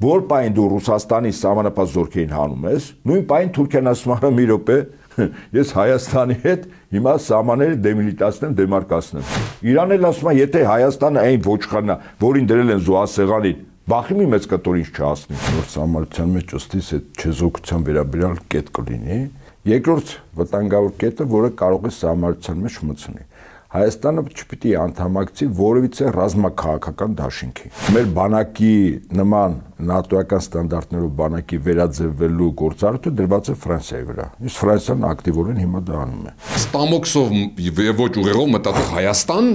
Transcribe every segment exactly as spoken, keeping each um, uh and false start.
որ պայն դու Ռուսաստանի սահմանապահ զորքերին հանում ես, նույն պայն Թուրքիան ասում է մի րոպե, ես Հայաստանի հետ հիմա սահմանները դեմիլիտացնեմ, դեմարկացնեմ։ Իրանն էլ ասում է, եթե Հայաստանը այն ոչխարն է, որին դրել են զոհասեղանին, բախի մի մեծ կտոր ինչ չհասնի։ Որ սահմանության մեջ ըստիս այդ չեզոքության վերաբերյալ կետ կլինի։ Երկրորդ վտանգավոր կետը, որը կարող է սահմանության մեջ մտցնի։ Հայաստանը չպիտի անդամակցի որևիցե ռազմաքաղաքական դաշինքի։ Մեր բանակի նման նատոական ստանդարտներով բանակի վերաձևվելու գործառույթը դրված է Ֆրանսիայի վրա։ Իսկ Ֆրանսիան ակտիվորեն հիմա դա անում է։ Ստամոքսով եւ ոչ ուղեղով մտածող Հայաստան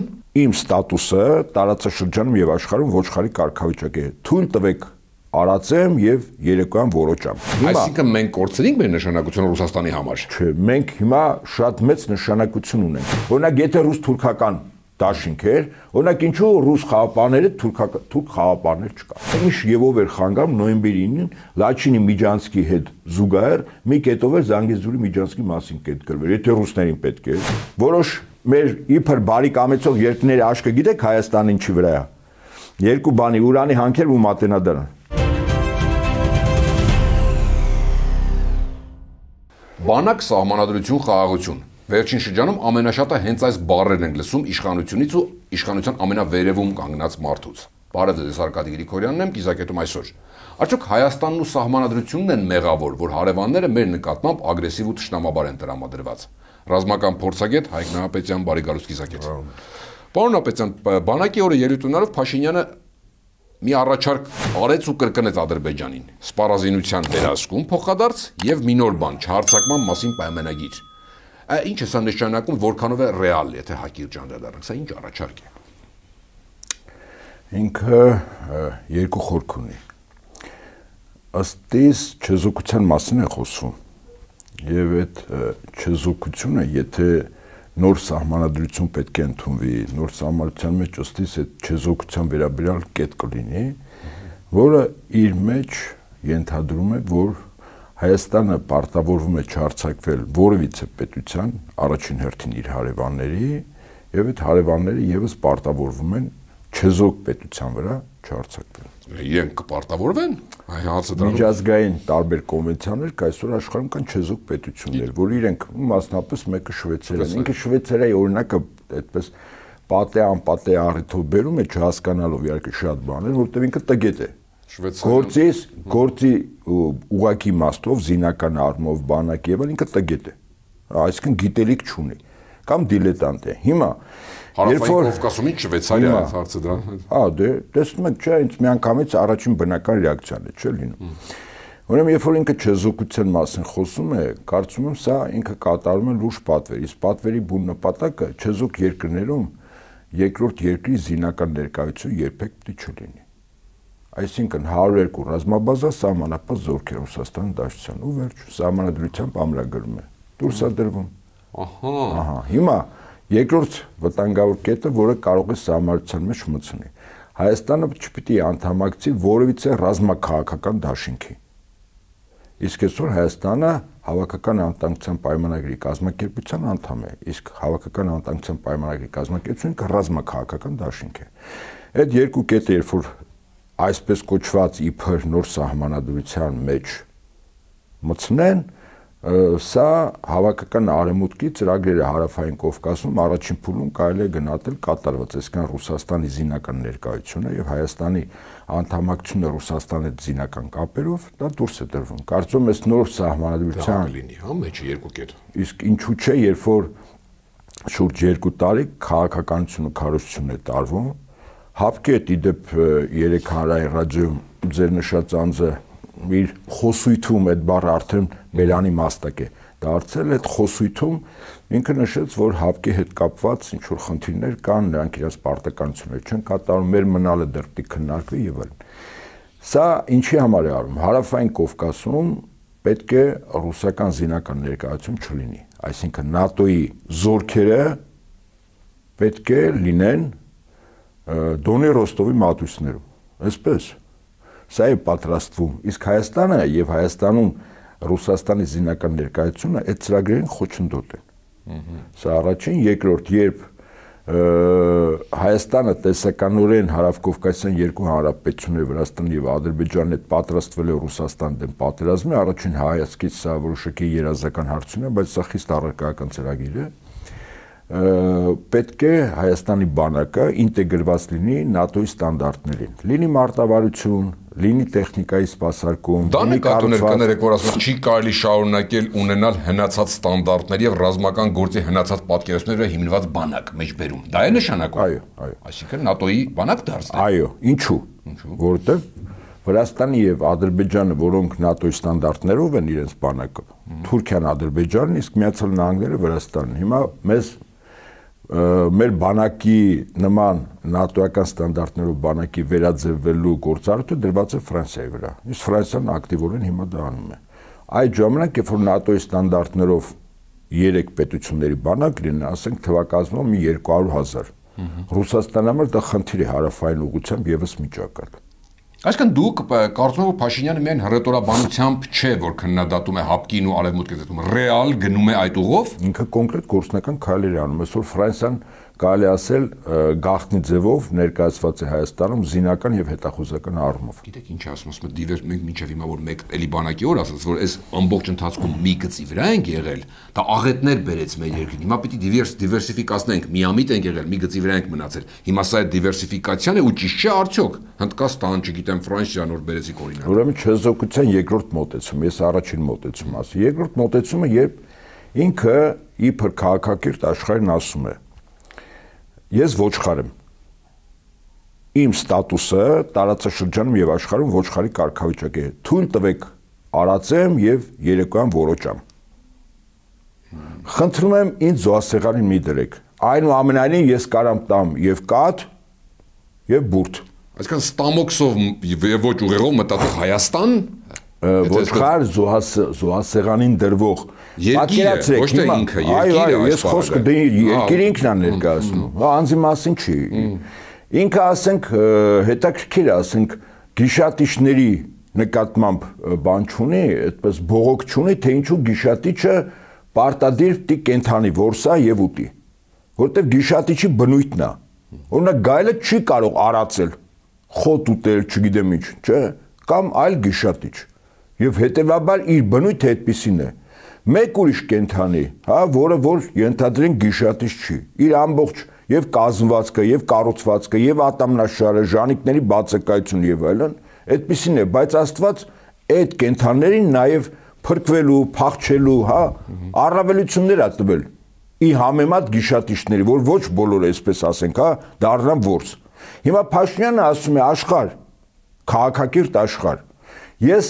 իմ ստատուսը տարածաշրջանում եւ աշխարհում ոչխարի կարգավիճակ է։ Թույլ տվեք արածեմ եւ երեկոյան որոճամ։ Այսինքն մենք կորցրինք մեր նշանակությունը Ռուսաստանի համար։ Չէ, մենք հիմա շատ մեծ նշանակություն ունենք։ Օրինակ, եթե ռուս-թուրքական դաշինք էր, օրինակ ինչու ռուս խաղապարները թուրքական թուրք խաղապարներ չկա։ Ինչ եւով էր խանգարում նոյեմբերի ինին Լաչինի Միջանցկի հետ զուգահեռ մի կետով էր Զանգեզուրի Միջանցկի մասին կետ գրվել։ Եթե ռուսներին պետք է, որոշ մեր իբր բարի կամեցող երկրների աշկը գիտեք Հայաստանը ինչի վրա է։ Երկու բանի ուրանի հանքեր ու մատենադարան։ Բանակ, սահմանադրություն, խաղաղություն։ Վերջին շրջանում ամենաշատը հենց այս բառերն են լսում իշխանությունից ու իշխանության ամենավերևում կանգնած մարդուց։ Բարև ձեզ, Արկադի Գրիգորյանն եմ, Կիզակետում այսօր։ Արդյոք Հայաստանն ու սահմանադրությունն են մեղավոր, որ հարևանները մեր նկատմամբ ագրեսիվ ու թշնամաբար են տրամադրված։ Ռազմական փորձագետ Հայկ Նահապետյան, բարի գալուստ Կիզակետ։ Պարոն Նահապետյան, բանակի օրը ելույթ ունենալով Փաշինյանը մի առաջարկ արեց ու կրկնեց Ադրբեջանին՝ սպառազինության վերահսկում փոխադարձ եւ մի նոր բան՝ չհարձակման մասին պայմանագիր։ Ինչ է սա նշանակում, որքանով է ռեալ, եթե հակիրճ անդրադառնանք, սա ինչ առաջարկ է։ Ինքը երկու խորք ունի։ Ըստ իս չեզոքության մասին է խոսում։ Եվ այդ չեզոքությունը, եթե նոր սահմանադրություն պետք է ընդունվի, նոր սահմանության մեջ ըստ իս այդ չեզոքության վերաբերյալ կետ կլինի, որը իր մեջ ենթադրում է, որ Հայաստանը պարտավորվում է չհարձակվել որևիցե պետության, առաջին հերթին իր հարևանների, եւ այդ հարևանները եւս պարտավորվում են չեզոք պետության վրա չհարձակվել։ Իրենք կպարտավորվեն։ Միջազգային տարբեր կոնվենցիաներ կա, այսօր աշխարհում կան չեզոք պետություններ, որ իրենք մասնապես մեկը Շվեյցարիան, ինքը Շվեյցարիայի օրինակը այդպես պատե անպատե առիթով բերում է չհասկանալով իհարկե շատ բաներ, որտեղ ինքը տգետ է։ Գործից, գործի ուղակի իմաստով, զինական առումով, բանակ եւ այլն ինքը տգետ է։ Այսինքն գիտելիք չունի կամ դիլետանտ է։ Հիմա Հարավային Կովկասում ինչ Շվեյցարիա է հարցը դրա։ Հա, դե տեսնում եք, չէ, ինձ միանգամից առաջին բնական ռեակցիան է, չէ՞ լինում։ Ուրեմն երբ որ ինքը չեզոքության մասին խոսում է, կարծում եմ սա ինքը կատարում է լուրջ պատվեր։ Իսկ պատվերի բուն նպատակը չեզոք երկրներում երկրորդ երկրի զինական ներկայություն երբեք պետք չլինի։ Այսինքն հարյուր երկու ռազմաբազա սահմանապահ զորքեր Ռուսաստանի Դաշնության ու վերջ սահմանադրությամբ ամրագրում է։ Դուրս է դրվում։ Ահա։ Ահա, հիմա երկրորդ վտանգավոր կետը, որը կարող է սահմանության մեջ մտցնի։ Հայաստանը չպիտի անդամակցի որևիցե ռազմաքաղաքական դաշինքի։ Իսկ այսօր Հայաստանը հավաքական անվտանգության պայմանագրի կազմակերպության անդամ է, իսկ հավաքական անվտանգության պայմանագրի կազմակերպությունը ռազմաքաղաքական դաշինք է։ Այդ երկու կետը, երբ որ այսպես կոչված իբր նոր սահմանադրության մեջ մտցնեն, սա հավաքական արևմուտքի ծրագրերը հարավային Կովկասում առաջին փուլում կարելի է գնահատել կատարված, այսինքն Ռուսաստանի զինական ներկայությունը եւ Հայաստանի անդամակցությունը Ռուսաստանի հետ զինական կապերով դա դուրս է դրվում։ Կարծում եմ, այս նոր սահմանադրության լինի, հա, մեջը երկու կետ։ Իսկ ինչու՞ չէ, երբ որ շուրջ երկու տարի քաղաքականություն ու քարոզություն է տարվում, հապկետ իդեպ երեք հանրային ռադիոյում ձեր նշած անձը իր խոսույթում այդ բառը արդեն Բելանի մաստակ է դարձել, այդ խոսույթում ինքը նշեց, որ հապկի հետ կապված ինչ որ խնդիրներ կան, նրանք իրենց պարտականություններ չեն կատարում, մեր մնալը դեռ պիտի քննարկվի եւ այլն։ Սա ինչի համար է արվում։ Հարավային Կովկասում պետք է ռուսական զինական ներկայություն չլինի, այսինքն ՆԱՏՕ-ի զորքերը պետք է լինեն Դոնի Ռոստովի մատույցներում, այսպես, սա է պատրաստվում, իսկ Հայաստանը եւ Հայաստանում Ռուսաստանի զինական ներկայությունը այդ ծրագրերին խոչընդոտ են։ Սա առաջին, երկրորդ, երբ Հայաստանը տեսականորեն հարավկովկասյան երկու հանրապետություններ Վրաստան եւ Ադրբեջանն հետ պատրաստվել է Ռուսաստան դեմ պատերազմի, առաջին հայացքից սա որոշակի երազական հարցություն է, բայց սա խիստ առարկայական ծրագիր է։ Պետք է Հայաստանի բանակը ինտեգրված լինի ՆԱՏՕ-ի ստանդարտներին։ Լինի մարտավարություն, լինի տեխնիկայի սպասարկում, դա նկատուներ կներեք, որ ասում չի կարելի շարունակել ունենալ հնացած ստանդարտներ եւ ռազմական գործի հնացած պատկերացումները հիմնված բանակ մեջբերում։ Դա է նշանակում։ Այո, այո։ Այսինքն ՆԱՏՕ-ի բանակ դարձնել։ Այո, ինչու՞։ Որովհետեւ Վրաստանը եւ Ադրբեջանը, որոնք ՆԱՏՕ-ի ստանդարտներով են իրենց բանակը, Թուրքիան, Ադրբեջանն, իսկ Միացյալ Նահանգները Վրաստանն։ Հիմա մեզ մեր բանակի նման նատոական ստանդարտներով բանակի վերաձևվելու գործառույթը դրված է Ֆրանսիայի վրա։ Իսկ Ֆրանսիան ակտիվորեն հիմա դա անում է։ Այդ ժամանակ, երբ որ ՆԱՏՕ-ի ստանդարտներով երեք պետությունների բանակ լինեն, ասենք թվակազմով մի երկու հարյուր հազար։ Ռուսաստանի համար դա խնդիր է հարավային ուղղությամբ եւս միջակայք։ Այսինքն դուք կարծում եք, որ Փաշինյանը միայն հռետորաբանությամբ չէ, որ քննադատում է հապկին ու արևմուտքի դեպքում, ռեալ գնում է այդ ուղով։ Ինքը կոնկրետ գործնական քայլեր է անում, այսօր Ֆրանսիան կարելի ասել գաղտնի ձևով ներկայացված է Հայաստանում զինական եւ հետախուզական առումով։ Գիտեք ինչ ասում, ասում եմ դիվեր մենք մինչեւ հիմա որ մեկ էլի բանակի օր ասած, որ այս ամբողջ ընթացքում մի գծի վրա ենք եղել, դա աղետներ բերեց մեր երկրին։ Հիմա պիտի դիվերս դիվերսիֆիկացնենք, միամիտ ենք եղել, մի գծի վրա ենք մնացել։ Հիմա սա այդ դիվերսիֆիկացիան է ու ճիշտ չէ արդյոք։ Հնդկաստան, չգիտեմ, Ֆրանսիան որ բերեցիք օրինակ։ Ուրեմն չեզոքության երկրորդ մոտեցում, ես առաջին մոտեցում ասի։ Երկրորդ մոտեցումը, երբ ինքը իբր քաղաքակիրթ աշխարհին ասում է. Ես ոչխար եմ։ Իմ ստատուսը տարածաշրջանում եւ աշխարհում ոչխարի կարգավիճակ է։ Թույլ տվեք արածեմ եւ երեկոյան որոճամ։ Խնդրում եմ ինձ զոհասեղանին մի դրեք։ Այնուամենայնիվ ես կարամ տամ եւ կաթ եւ բուրդ։ Այսինքն ստամոքսով եւ ոչ ուղեղով մտածող Հայաստան ոչխար զոհասեղանին դրվող երկիրը, ոչ թե ինքը, այո, այո, ես խոսքը երկիրը ինքն է ներկայացնում, անձի մասին չի։ Ինքը ասենք հետաքրքիր է, ասենք գիշատիչների նկատմամբ բան չունի, այդպես բողոք չունի, թե ինչու գիշատիչը պարտադիր պիտի կենթանի որսա եւ ուտի, որտեւ գիշատիչի բնույթն է։ Օրինակ գայլը չի կարող արածել, խոտ ուտել, չգիտեմ ինչ, չէ՞, կամ այլ գիշատիչ։ Եվ հետևաբար իր բնույթը այդպիսին է։ Մեկ ուրիշ կենթանի, հա, որը որ ենթադրենք գիշատիչ չի, իր ամբողջ եւ կազմվածքը, եւ կառուցվածքը, եւ ատամնաշարը, ժանիկների բացակայություն եւ այլն, այդպիսին է, բայց Աստված այդ կենթաններին նաեւ փրկվելու, փախչելու, հա, առավելություններ ա տվել։ Ի համեմատ գիշատիչների, որ ոչ բոլորը այսպես ասենք, հա, դառնան որս։ Հիմա Փաշինյանը ասում է աշխարհ, քաղաքակիրթ աշխարհ։ Ես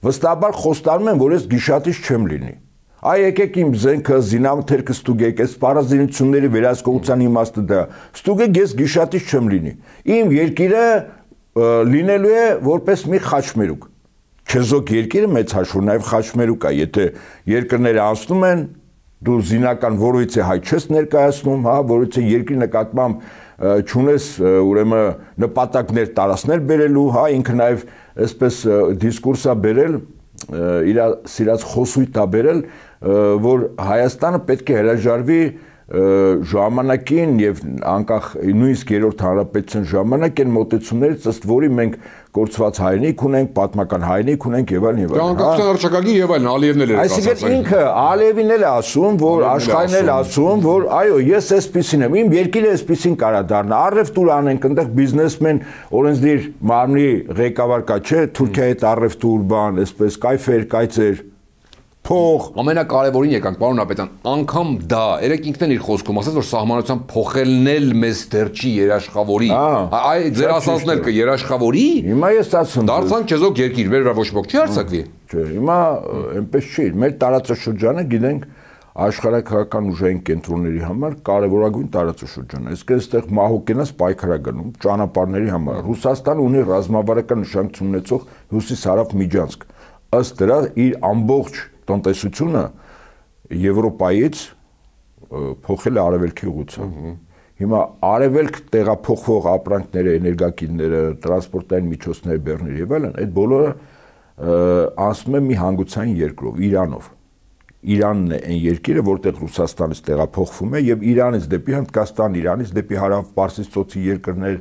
վստահաբար խոստանում եմ, որ ես գիշատիչ չեմ լինի։ Այ եկեք իմ զենքը, զինամթերքը ստուգեք, այս պարազինությունների վերահսկողության իմաստը դա։ Ստուգեք, ես գիշատիչ չեմ լինի։ Իմ երկիրը լինելու է որպես մի խաչմերուկ։ Չեզոք երկիրը մեծ հաշվով նաև խաչմերուկ է, եթե երկրները անցնում են, դու զինական որույթի հայ չես ներկայացնում, հա, որույթի երկրի նկատմամբ չունես ուրեմն նպատակներ տարածներ բերելու, հա, ինքը նաև այսպես դիսկուրս է բերել, իր սիրած խոսույթ է բերել, որ Հայաստանը պետք է հրաժարվի ժամանակին եւ անկախ նույնիսկ երրորդ հանրապետության ժամանակ են մոտեցումներից, ըստ որի մենք կորցված հայրենիք ունենք, պատմական հայրենիք ունենք եւ այլն եւ այլն։ Անկախության հռչակագիր եւ այլն Ալիևն էլ էր ասած։ Այսինքն ինքը Ալիևին էլ ասում, որ աշխարհին էլ ասում, որ այո, ես էսպիսին եմ, իմ երկիրը էսպիսին կարա դառնա։ Առևտուր անենք, այնտեղ բիզնեսմեն, օրենսդիր մարմնի ղեկավար կա, չէ, Թուրքիայի հետ առևտուր, բան, այսպես կայֆեր, կայծեր փող ամենակարևորին եկանք պարոն Ապետյան, անգամ դա երեք ինքն էլ իր խոսքում ասաց, որ սահմանության փոխելն էլ մեզ դեռ չի երաշխավորի։ Այ ձեր ասածն էլ կերաշխավորի։ Հիմա ես ասում եմ դարձանք չեզոք երկիր, մեր վրա ոչ ոք չի արձակվի։ Չէ, հիմա այնպես չի։ Մեր տարածաշրջանը գիտենք աշխարհակահական ուժային կենտրոնների համար կարևորագույն տարածաշրջան է։ Իսկ այստեղ մահուկենաս պայքար է գնում ճանապարհների համար։ Ռուսաստանը ունի ռազմավարական նշանակություն ունեցող հյուսիս-հարավ միջանցք։ Ըստ դրա իր ամբողջ տնտեսությունը Եվրոպայից փոխել է արևելքի ուղղությամբ։ Հիմա արևելք տեղափոխվող ապրանքները, էներգակիրները, տրանսպորտային միջոցները, բեռներ եւ այլն, այդ բոլորը անցնում է մի հանգուցային երկրով, Իրանով։ Իրանն է այն երկիրը, որտեղ Ռուսաստանից տեղափոխվում է եւ Իրանից դեպի Հնդկաստան, Իրանից դեպի Հարավ Պարսից ծոցի երկրներ,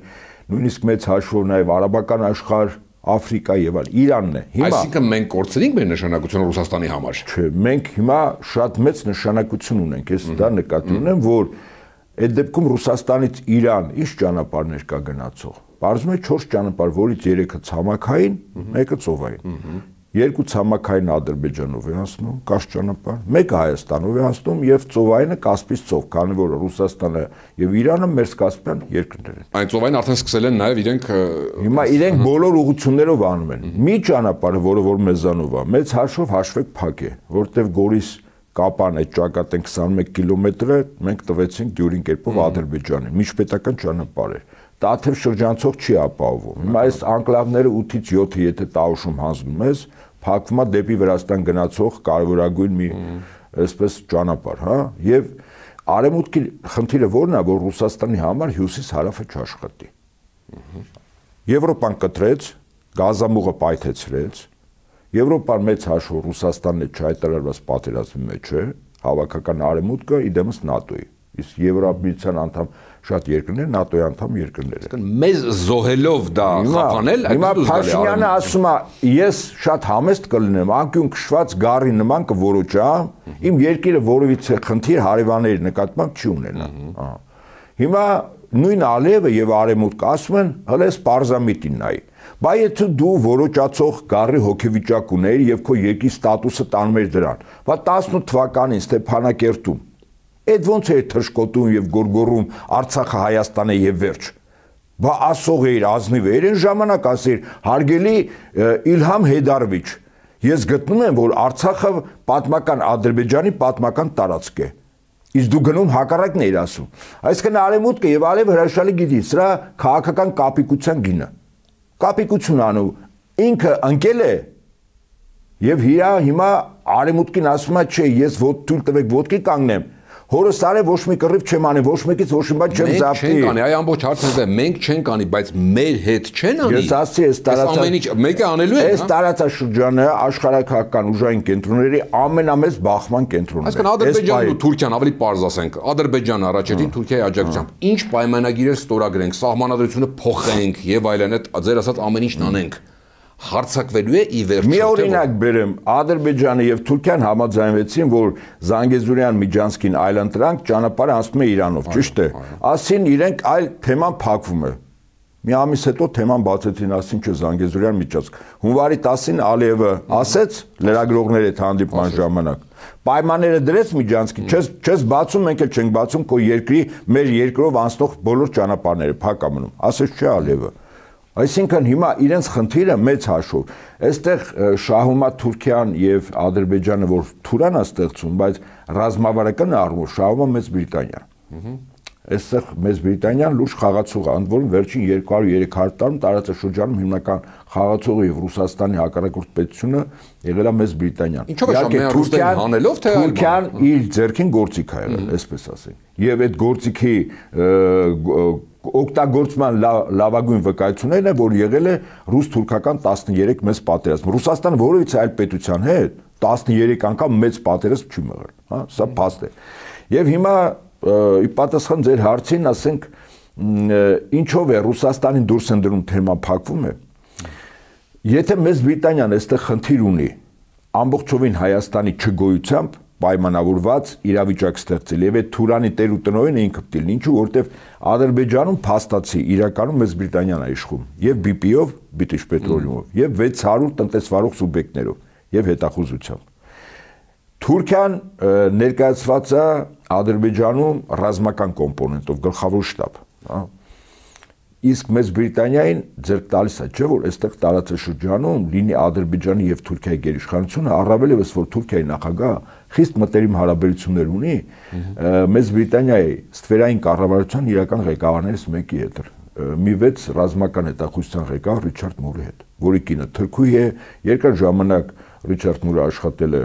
նույնիսկ մեծ հաշվով նաեւ արաբական աշխարհ, Աֆրիկա եւ այլ Իրանն է։ Հիմա այսինքն մենք կորցրինք մեր նշանակությունը Ռուսաստանի համար։ Չէ, մենք հիմա շատ մեծ նշանակություն ունենք, ես դա նկատի ունեմ, որ այդ դեպքում Ռուսաստանից Իրան ինչ ճանապարհներ կա գնացող։ Բարձում է չորս ճանապարհ, որից երեքը ցամաքային, մեկը ծովային։ Երկու ցամաքային Ադրբեջանով է անցնում, կաշ ճանապարհ, մեկը Հայաստանով է անցնում եւ ծովայինը Կասպից ծով, քանի որ Ռուսաստանը եւ Իրանը մեր Կասպյան երկրներ են։ Այն ծովային արդեն սկսել են նաեւ իրենք հիմա իրենք բոլոր ուղություններով անում են։ Մի ճանապարհը, որը որ մեզանով է, մեծ հաշվով հաշվեք փակ է, որտեղ Գորիս Կապան այդ ճակատեն քսանմեկ կիլոմետրը մենք տվեցինք դյուրին կերպով Ադրբեջանին, միջպետական ճանապարհ է։ Տաթև շրջանցող չի ապահովում։ Հիմա այս անկլավները ութից յոթը եթե Տաուշում հանձնում ես, փակվում է դեպի Վրաստան գնացող կարևորագույն մի այսպես ճանապարհ, հա, եւ արևմուտքի խնդիրը որն է, որ Ռուսաստանի համար հյուսիս-հարավը չաշխատի։ Եվրոպան կտրեց, գազամուղը պայթեցրեց, Եվրոպան մեծ հաշվով Ռուսաստանն է չհայտարարված պատերազմի մեջ է, հավաքական արևմուտքը իդեմս ՆԱՏՕ-ի, իսկ Եվրոպական անդամ շատ երկրներ ՆԱՏՕ-ի անդամ երկրներ են։ Մեզ զոհելով դա խափանել, հիմա Փաշինյանը ասում է, ես շատ համեստ կլինեմ, անկյուն քշված գառի նման կորոճամ, իմ երկիրը որևիցե խնդիր հարևանների նկատմամբ չի ունենա։ Հիմա նույն Ալիևը եւ Արևմուտքը ասում են, հələ սպարզամիտին նայի։ Բա եթե դու որոճացող գառի հոգեվիճակ ուներ եւ քո երկրի ստատուսը տանում էր դրան, բա տասնութ թվականին Ստեփանակերտում այդ ոնց էր թշկոտում եւ գորգորում Արցախը Հայաստան է եւ վերջ։ Բա ասող էր ազնիվ էր այն ժամանակ ասեր հարգելի Իլհամ Հեյդարովիչ, ես գտնում եմ, որ Արցախը պատմական Ադրբեջանի պատմական տարածք է։ Իսկ դու գնում հակառակն էիր ասում։ Այսինքն Արևմուտքը եւ Արև հրաշալի գիտի սրա քաղաքական կապիկության գինը։ Կապիկություն անում ինքը ընկել է եւ հիա հիմա Արևմուտքին ասում է չէ ես ոտ թույլ տվեք ոտքի կանգնեմ հորս արե ոչ մի կռիվ չեմ անի ոչ մեկից ոչ մի բան չեմ զավթի մենք չենք անի այ ամբողջ հարցը դա մենք չենք անի բայց մեր հետ չեն անի ես ասի այս տարածա ամեն ինչ մեկը անելու է այս տարածաշրջանը աշխարհակահական ուժային կենտրոնների ամենամեծ բախման կենտրոնն է այսինքն Ադրբեջանն ու Թուրքիան ավելի պարզ ասենք Ադրբեջանը առաջին Թուրքիայի աջակցությամբ ինչ պայմանագիրեր ստորագրենք սահմանադրությունը փոխենք եւ այլն այդ ձեր ասած ամեն ինչն անենք հարցակվելու է ի վերջո։ Մի օրինակ բերեմ, Ադրբեջանը եւ Թուրքիան համաձայնվեցին, որ Զանգեզուրյան Միջանցքին այլընտրանք ճանապարհը անցնում է Իրանով, ճիշտ է։ Ասին իրենք այլ թեման փակվում է։ Մի ամիս հետո թեման բացեցին, ասին չէ Զանգեզուրյան Միջանցք։ Հունվարի տասին Ալիևը ասեց լրագրողների հետ հանդիպման ժամանակ։ Պայմանները դրեց Միջանցքի, չես չես բացում, մենք էլ չենք բացում քո երկրի մեր երկրով անցնող բոլոր ճանապարհները փակ է մնում։ Ասեց չէ Ալիևը։ Այսինքն հիմա իրենց խնդիրը մեծ հաշվով, այստեղ շահում է Թուրքիան եւ Ադրբեջանը, որ Թուրան է ստեղծում, բայց ռազմավարական առումով շահում է Մեծ Բրիտանիան։ Այստեղ Մեծ Բրիտանիան լուրջ խաղացող է, ընդ որում վերջին երկու հարյուր երեք հարյուր տարում տարածաշրջանում հիմնական խաղացողը եւ Ռուսաստանի հակառակորդ պետությունը եղել է Մեծ Բրիտանիան։ Ինչով է Թուրքիան հանելով թե Թուրքիան իր ձեռքին գործիք է եղել, այսպես ասենք։ Եվ այդ գործիքի օգտագործման լավագույն վկայություններն է, որ եղել է ռուս-թուրքական տասներեք մեծ պատերազմ։ Ռուսաստանը որևիցե այլ պետության հետ տասներեք անգամ մեծ պատերազմ չի մղել, հա, սա փաստ է։ Եվ հիմա ի պատասխան ձեր հարցին, ասենք, ինչով է Ռուսաստանին դուրս են դնում թեման փակվում է։ Եթե Մեծ Բրիտանիան այստեղ խնդիր ունի ամբողջովին Հայաստանի չգոյությամբ պայմանավորված իրավիճակ ստեղծել եւ այդ Թուրանի տեր ու տնօրենը ինքը պետք է ինչու որտեվ Ադրբեջանում փաստացի իրականում Մեծ Բրիտանիան է իշխում եւ բի պի-ով, British Petroleum-ով եւ վեց հարյուր տնտեսվարող սուբյեկտներով եւ հետախուզությամբ։ Թուրքիան ներկայացված է Ադրբեջանում ռազմական կոմպոնենտով, գլխավոր շտաբ, հա։ Իսկ Մեծ Բրիտանիային ձեռք տալիս է, չէ՞ որ այստեղ տարածաշրջանում լինի Ադրբեջանի եւ Թուրքիայի գերիշխանությունը, առավել եւս որ Թուրքիայի նախագահը խիստ մտերիմ հարաբերություններ ունի Մեծ Բրիտանիայի ստվերային կառավարության իրական ղեկավարներից մեկի հետ, մի վեց ռազմական հետախուզության ղեկավար Ռիչարդ Մուրի հետ, որի կինը թրքուհի է, երկար ժամանակ Ռիչարդ Մուրը աշխատել է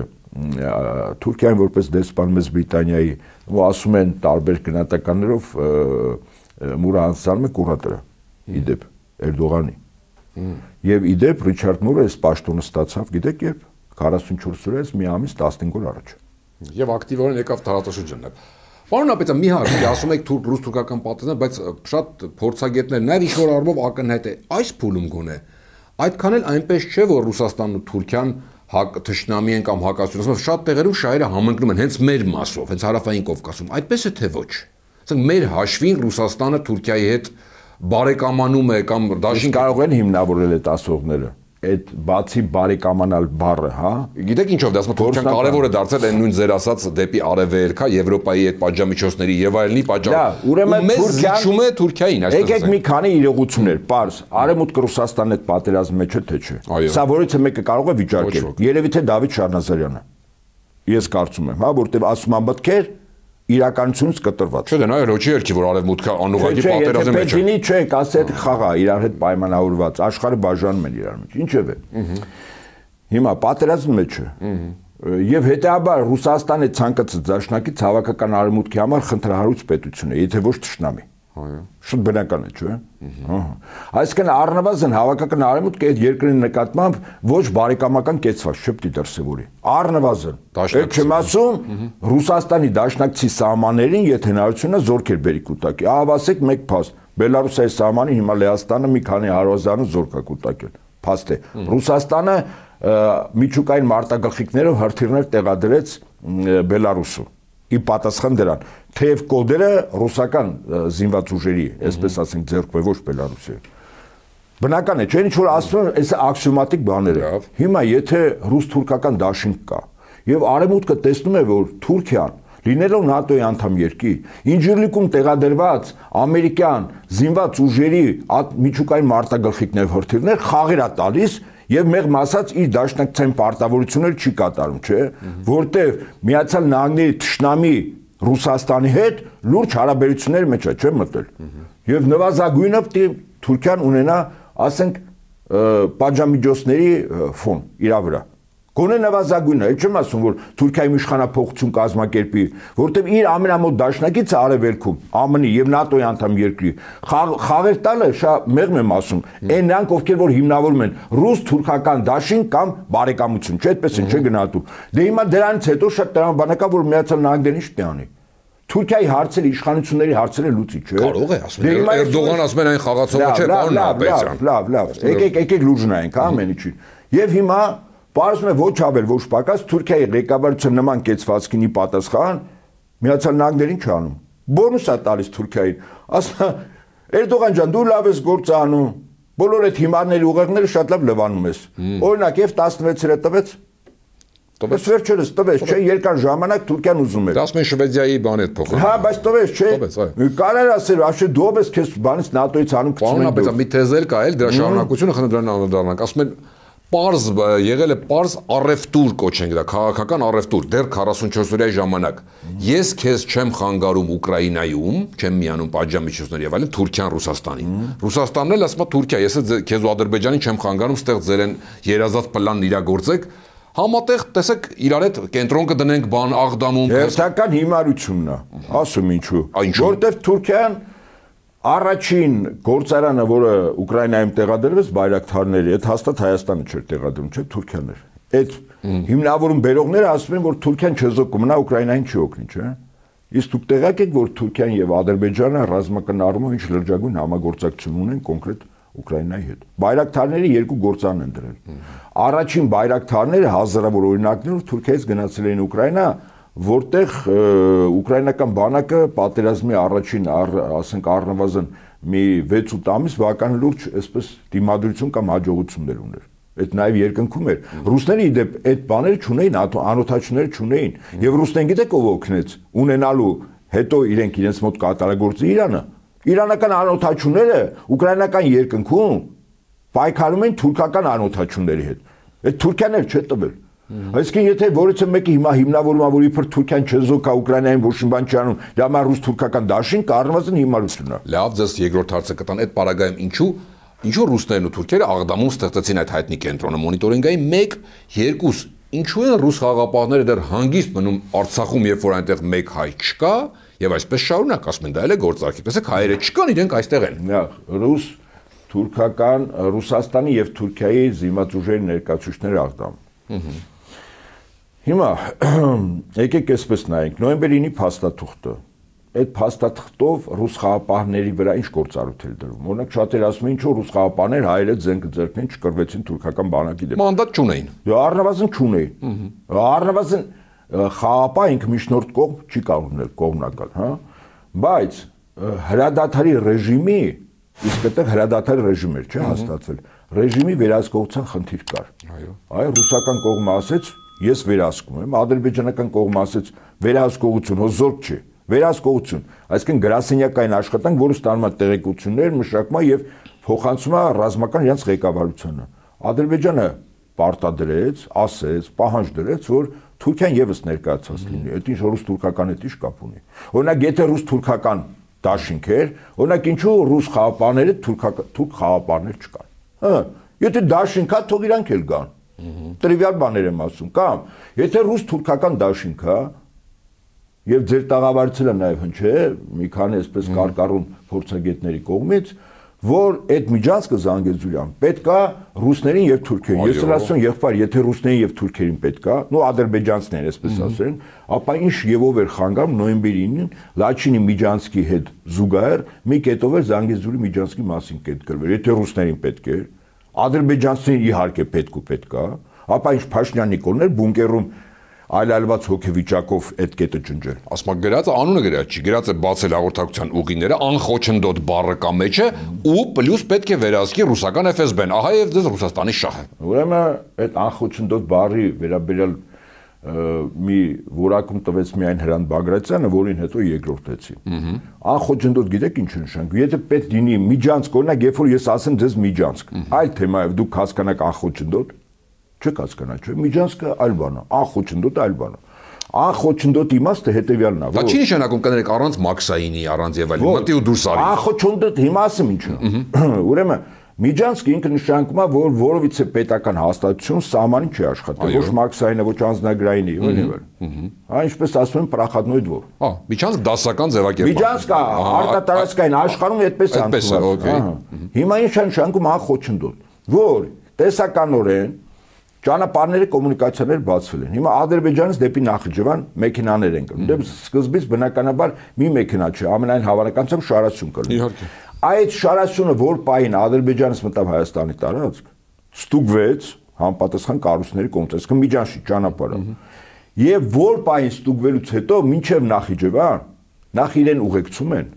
Թուրքիային որպես դեսպան Մեծ Բրիտանիայի, ու ասում են տարբեր գնահատականներով Մուրը անցնում է կուրատորը, իդեպ Էրդողանի։ Եվ իդեպ Ռիչարդ Մուրը այս պաշտոնը ստացավ, գիտեք երբ, քառասունչորս օրից մի ամիս տասնհինգ օր առաջ։ Եվ ակտիվորեն եկավ տարածաշրջանն։ Պարոն Ապետյան, մի հարց, ասում եք ռուս-թուրքական պատերազմ, բայց շատ փորձագետներ նաև ինչ-որ առումով ակնհայտ է այս փուլում գոնե։ Այդքան էլ այնպես չէ, որ Ռուսաստանն ու Թուրքիան հակ թշնամի են կամ հակասություն, շատ տեղերում շահերը համընկնում են հենց մեր մասով, հենց հարավային Կովկասում։ Այդպես է թե ոչ։ Ասենք մեր հաշվին Ռուսաստանը Թուրքիայի հետ բարեկամանում է կամ դաշին կարող են հիմնավորել այդ ասողները։ Այդ բացի բարեկամանալ բառը, հա։ Գիտեք ինչով դա ասում Թուրքիան կարևոր է դարձել այն նույն ձեր ասած դեպի արևելքա Եվրոպայի այդ պատժամիջոցների եւ այլնի պատճառով։ Ուրեմն Թուրքիան է Թուրքիային, այսպես ասենք։ Եկեք մի քանի իրողություններ, պարզ, Արևմուտք Ռուսաստանի հետ պատերազմի մեջ է թե չէ։ Սա որից մեկը կարող է վիճարկել։ Երևի թե Դավիթ Շարնազարյանը։ Ես կարծում եմ, հա, որտեղ ասում են մտքեր իրականությունից կտրված։ Չէ, դա ռոչի երկի, որ արևմուտքը անուղղակի պատերազմի մեջ է։ Պետինի չէ, ասել խաղա իրար հետ պայմանավորված, աշխարհը բաժանում են իրար մեջ։ Ինչև է։ Հիմա պատերազմի մեջ է։ Եվ հետեւաբար Ռուսաստանի ցանկացած դաշնակից հավաքական արևմուտքի համար խնդրահարույց պետություն է, եթե ոչ թշնամի։ Այո։ Շատ բնական է, չէ՞։ Ահա։ Այսինքն առնվազն հավաքական արևմուտքը այդ երկրի նկատմամբ ոչ բարեկամական կեցված չէ պիտի դրսևորի։ Առնվազն։ Այդ չեմ ասում Ռուսաստանի դաշնակցի սահմաններին, եթե հնարավորություն է զորքեր բերի կուտակի։ Ահա ասեք մեկ փաստ։ Բելարուսիայի սահմանին հիմա Լեհաստանը մի քանի հարազարու զորք է կուտակել։ Փաստ է։ Ռուսաստանը միջուկային մարտագլխիկներով հրթիռներ տեղադրեց Բելարուսում։ Ի պատասխան դրան, թեև կոդերը ռուսական զինված ուժերի, այսպես ասենք, ձեռք ոչ Բելարուսի։ Բնական է, չէ՞ ինչ որ ասում են, այս աքսիոմատիկ բաներ է։ Հիմա եթե ռուս-թուրքական դաշինք կա, եւ արևմուտքը տեսնում է, որ Թուրքիան լինելով ՆԱՏՕ-ի անդամ երկիր, Ինջիրլիկում տեղադրված ամերիկյան զինված ուժերի միջուկային մարտագլխիկներ հրթիռներ խաղեր է տալիս եւ մեղմ ասած իր դաշնակցային պարտավորությունները չի կատարում, չէ՞, որտեւ Միացյալ Նահանգների թշնամի Ռուսաստանի հետ լուրջ հարաբերությունների մեջ է, չէ՞ մտել։ Եվ նվազագույնը Թուրքիան ունենա, ասենք, պատժամիջոցների ֆոն իր վրա։ Գոնե նվազագույնը, այդ չեմ ասում, որ Թուրքիայի իշխանափոխություն կազմակերպի, որտեղ իր ամենամոտ դաշնակիցը արևելքում, ԱՄՆ-ի եւ ՆԱՏՕ-ի անդամ երկրի, խաղեր տալը շատ մեղմ եմ ասում, այն նրանք, ովքեր որ հիմնավորում են ռուս-թուրքական դաշին կամ բարեկամություն, չէ՞, այդպես են, չէ՞ գնահատում։ Դե հիմա դրանից հետո շատ տրամաբանական, որ Միացյալ Նահանգներն ինչ պիտի անի։ Թուրքիայի հարցերը, իշխանությունների հարցերը լուծի, չէ՞։ Կարող է, ասում են, Էրդողան ասում են այն խաղացողը չէ, պարոն Ապետյան։ Լավ, լավ, եկեք, եկեք լուրջ նայենք, հա, ամեն ինչին։ Եվ հիմա պարզվում է ոչ ավել, ոչ պակաս Թուրքիայի ղեկավարության նման կեցվածքինի պատասխան Միացյալ Նահանգներին չանում։ Բոնուս է տալիս Թուրքիային։ Ասում է, Էրդողան ջան, դու լավ ես գործ անում։ Բոլոր այդ հիմարների ուղեղները շատ լավ լվանում ես։ Օրինակ, եւ տասնվեցը տվեց։ Տվեց վերջերս տվեց, չէ, երկար ժամանակ Թուրքիան ուզում էր։ Դա ասում են Շվեդիայի բան հետ փոխել։ Հա, բայց տվեց, չէ։ Կարար ասել, աշե դու ով ես քեզ բանից ՆԱՏՕ-ից անում գցում են։ Պարոն Ապետյան, մի թեզ էլ կա, էլ դրա շարունակությունը խնդրում դրան անդրադառնանք։ Ասում են Պարզ եղել է պարզ առևտուր կոչենք դա, քաղաքական առևտուր, դեռ քառասունչորս օրյա ժամանակ։ Ես քեզ չեմ խանգարում Ուկրաինայում, չեմ միանում պատժամիջոցներ եւ այլն, Թուրքիան Ռուսաստանին։ Ռուսաստանն էլ ասում է Թուրքիա, ես քեզ ու Ադրբեջանին չեմ խանգարում, ստեղ ձեր են երազած պլանն իրագործեք։ Համատեղ տեսեք իրար հետ կենտրոն կդնենք բան Աղդամում։ Հերթական հիմարությունն է, ասում ինչու։ Որտեւ Թուրքիան Առաջին գործարանը, որը Ուկրաինայում տեղադրվեց բայրակթարների, այդ հաստատ Հայաստանը չէր տեղադրում, չէ, Թուրքիան էր։ Այդ հիմնավորում բերողները ասում են, որ Թուրքիան չեզոք մնա Ուկրաինային չի օգնի, չէ։ Իսկ դուք տեղյակ եք, որ Թուրքիան եւ Ադրբեջանը ռազմական առումով ինչ լրջագույն համագործակցություն ունեն կոնկրետ Ուկրաինայի հետ։ Բայրակթարների երկու գործարան են դրել։ Առաջին բայրակթարները հազարավոր օրինակներով Թուրքիայից գնացել էին Ուկրաինա, որտեղ ուկրաինական բանակը պատերազմի առաջին, ասենք, առնվազն մի վեց-ութ ամիս բավական լուրջ, այսպես դիմադրություն կամ հաջողություններ ուներ։ Այդ նաև երկնքում էր։ Ռուսները իդեպ այդ բաները չունեին, անօթաչուները չունեին։ Եվ ռուսներին գիտեք ով օգնեց ունենալու հետո իրենք իրենց մոտ կատարագործի Իրանը։ Իրանական անօթաչուները ուկրաինական երկնքում պայքարում են թուրքական անօթաչուների հետ։ Այդ Թուրքիան էլ չէ տվել։ Այսինքն եթե որից մեկը հիմա հիմնավորում է, որ իբր Թուրքիան չեզոք է Ուկրաինային ոչ մի բան չի անում, դա մա ռուս-թուրքական դաշին կառնվածն հիմարություն է։ Լավ, ձեզ երկրորդ հարցը կտան այդ պարագայում ինչու ինչու ռուսներն ու թուրքերը Աղդամում ստեղծեցին այդ հայտնի կենտրոնը մոնիտորինգային մեկ, երկուս, ինչու են ռուս խաղապահները դեռ հանգիստ մնում Արցախում, երբ որ այնտեղ մեկ հայ չկա, եւ այսպես շարունակ ասում են դա էլ է գործարքի։ Տեսեք հայերը չկան, իրենք այստեղ են։ Ռուս, թուրքական, Ռուսաստանի եւ Թուրքիայի զինված ուժերի ներկայացուցիչները Աղդամ։ Հիմա եկեք այսպես նայենք, նոյեմբերի ինի փաստաթուղթը։ Այդ փաստաթղթով ռուս խաղապահների վրա ինչ գործառույթ էր դրվում։ Օրինակ շատեր ասում են, ինչու ռուս խաղապահներ հայերը ձենքը ձեռքին չկրվեցին թուրքական բանակի դեմ։ Մանդատ չունեին։ Դե առնվազն չունեին։ Առնվազն խաղապահ ինքը միջնորդ կողմ չի կարող լինել կողմնակալ, հա։ Բայց հրադադարի ռեժիմի, իսկ այդտեղ հրադադարի ռեժիմ էր, չէ՞, հաստատվել։ Ռեժիմի վերահսկողության խնդիր կար։ Այո։ Այո, ռուսական կողմը ասեց, ես վերահսկում եմ, ադրբեջանական կողմը ասեց, վերահսկողություն, հո զորք չի, վերահսկողություն, այսինքն գրասենյակային աշխատանք, որը ստանում է տեղեկություններ, մշակում է եւ փոխանցում է ռազմական իրենց ղեկավարությանը։ Ադրբեջանը պարտադրեց, ասեց, պահանջ դրեց, որ Թուրքիան եւս ներկայացած լինի։ Այդ ինչ ռուս-թուրքական հետ ինչ կապ ունի։ Օրինակ, եթե ռուս-թուրքական դաշինք էր, օրինակ ինչու ռուս խաղապահները թուրք խաղապահներ չկան։ Հա, եթե դաշինք է, թող իրանք էլ գան։ Տրիվիալ բաներ եմ ասում, կամ եթե ռուս-թուրքական դաշինք է, եւ ձեր տաղավարիցը նաեւ հնչե, մի քանի այսպես կարկառուն փորձագետների կողմից, որ այդ միջանցքը Զանգեզուրյան պետքա ռուսներին եւ թուրքերին։ Ես էլ ասում եմ, եղբայր, եթե ռուսներին եւ թուրքերին պետքա, նո ադրբեջանցիներին, այսպես ասեն, ապա ինչ եւով էր խանգարում նոյեմբերի ինին Լաչինի միջանցքի հետ զուգահեռ մի կետով էր Զանգեզուրի միջանցքի մասին կետ գրվել։ Եթե ռուսներին պետք էր, ադրբեջանցիներին իհարկե պետք ու պետքա, ապա ինչ Փաշինյան Նիկոլներ բունկերում այլայլված հոգեվիճակով այդ կետը ջնջել։ Ասում եք գրածը անունը գրած չի, գրած է բացել հաղորդակցության ուղիները, անխոչնդոտ բառը կա մեջը ու պլյուս պետք է վերահսկի ռուսական Էֆ Էս Բեն, ահա եւ դες Ռուսաստանի շահը։ Ուրեմն այդ անխոչնդոտ բառի վերաբերյալ մի որակում տվեց միայն Հրանտ Բագրատյանը, որին հետո երկրորդեցի։ Անխոչնդոտ գիտեք ինչ նշանակում։ Եթե պետք լինի միջանցք, օրինակ երբ որ ես ասեմ ձեզ միջանցք, այլ թեմա է, դուք հասկանաք անխոչնդոտ, չեք հասկանա, չէ՞։ Միջանցքը այլ բան է, անխոչնդոտ այլ բան է։ Անխոչնդոտ իմաստը հետեւյալն է, որ Դա չի նշանակում կներեք առանց Մաքսայինի, առանց եւ այլն, մտի ու դուրս արի։ Անխոչնդոտ հիմա ասեմ ինչ է։ Ուրեմն միջանցքը ինքը նշանակում է, որ որովիցե պետական հաստատություն սահմանին չի աշխատել, ոչ Մաքսայինը, ոչ անձնագրայինը, եւ այլն։ Հա, ինչպես ասում են, պրախադնոյ դվոր։ Հա, միջանցք դասական ձևակերպ։ Միջանցքը արտատարածքային աշխարհում այդպես է ընդունված։ Հիմա ինչ է նշանակում անխոչնդոտ, որ տեսականորեն ճանապարհների կոմունիկացիաներ բացվել են։ Հիմա Ադրբեջանից դեպի Նախիջևան մեքենաներ են գնում։ Դե սկզբից բնականաբար մի մեքենա չէ, ամենայն հավանականությամբ շարասյուն կլինի։ Իհարկե։ Այդ շարասյունը որ պահին Ադրբեջանից մտավ Հայաստանի տարածք, ստուգվեց համապատասխան կառույցների կողմից, այսինքն միջանցքի ճանապարհը։ Եվ որ պահին ստուգվելուց հետո մինչև Նախիջևան նախ իրեն ուղեկցում են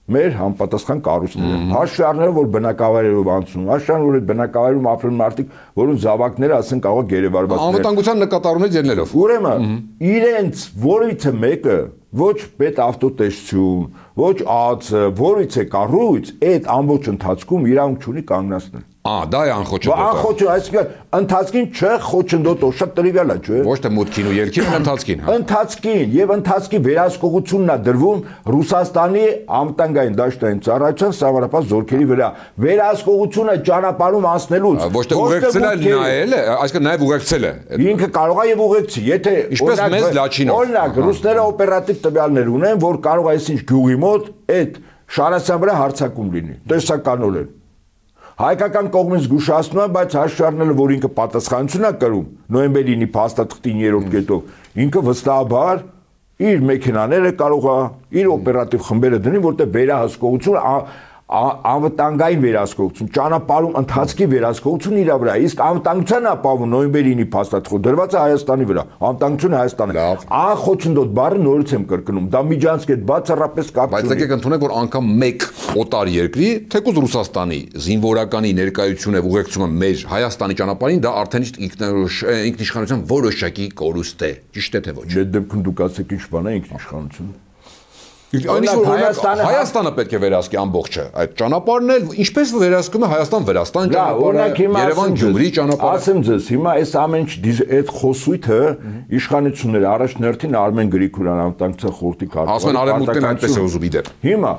մեր համապատասխան կառույցները։ Հաշվի առնելով, որ բնակավայրերով անցնում, հաշվի առնելով, որ այդ բնակավայրում ապրում մարդիկ, որոնց զավակները ասեն կարող գերեվարված լինեն։ Անվտանգության նկատառումից ելնելով։ Ուրեմն իրենց որևիցե մեկը ոչ պետավտոտեսություն, ոչ ԱԱՑ, որից է կառույց, այդ ամբողջ ընթացքում իրավունք չունի կանգնացնել։ Ա, դա է անխոչնդոտը։ Անխոչը, այսինքն ընթացքին չխոչնդոտո, շատ տրիվիալ է, չէ՞։ Ոչ թե մուտքին ու ելքին, ընթացքին, հա։ Ընթացքին եւ ընթացքի վերահսկողությունն է դրվում Ռուսաստանի անվտանգային դաշտային ծառայության սահմանապահ զորքերի վրա։ Վերահսկողությունը ճանապարհում անցնելուց։ Ոչ թե ուղեկցել է, նայել է, այսինքն նաեւ ուղեկցել է։ Ինքը կարող է եւ ուղեկցի, եթե Ինչպես մեզ Լաչինով։ Օրինակ, ռուսները օպերատիվ տվյալներ ունեն, որ կարող է այսինչ գյուղի մոտ այդ շարասյան վրա հարձակում լինի, տեսականորեն։ Հայկական կողմից զգուշացնում է, բայց հաշվի առնելով, որ ինքը պատասխանություն է կրում նոյեմբերի ինի փաստաթղթի երրորդ կետով, ինքը վստահաբար իր մեքենաները կարող է իր օպերատիվ խմբերը դնի, որտեղ վերահսկողություն անվտանգային վերահսկողություն, ճանապարհում ընթացքի վերահսկողություն իր վրա, իսկ անվտանգության ապահովում նոյեմբերի ինի փաստաթղթը դրված է Հայաստանի վրա, անվտանգությունը Հայաստանի։ Անխոչնդոտ բառը նորից եմ կրկնում, դա միջանցք է բացառապես կապ չունի։ Բայց եկեք ընդունենք, որ անգամ մեկ օտար երկրի, թեկուզ Ռուսաստանի զինվորականի ներկայությունը ուղեկցումը մեր Հայաստանի ճանապարհին, դա արդեն ինքնիշխանության որոշակի կորուստ է, ճիշտ է թե ոչ։ Այդ դեպքում դուք ասեք ինչ բան է ինքնիշխանություն։ Հայաստանը Հայաստանը պետք է վերահսկի ամբողջը այդ ճանապարհն էլ ինչպես վերահսկում է Հայաստան Վրաստան ճանապարհը Երևան Գյումրի ճանապարհը ասեմ ձեզ հիմա այս ամեն ինչ այդ խոսույթը իշխանությունները առաջնորդին Արմեն Գրիգորյան անվտանգության խորհրդի կարգ ասում են արևմուտքն այնպես է ուզում իդեպ հիմա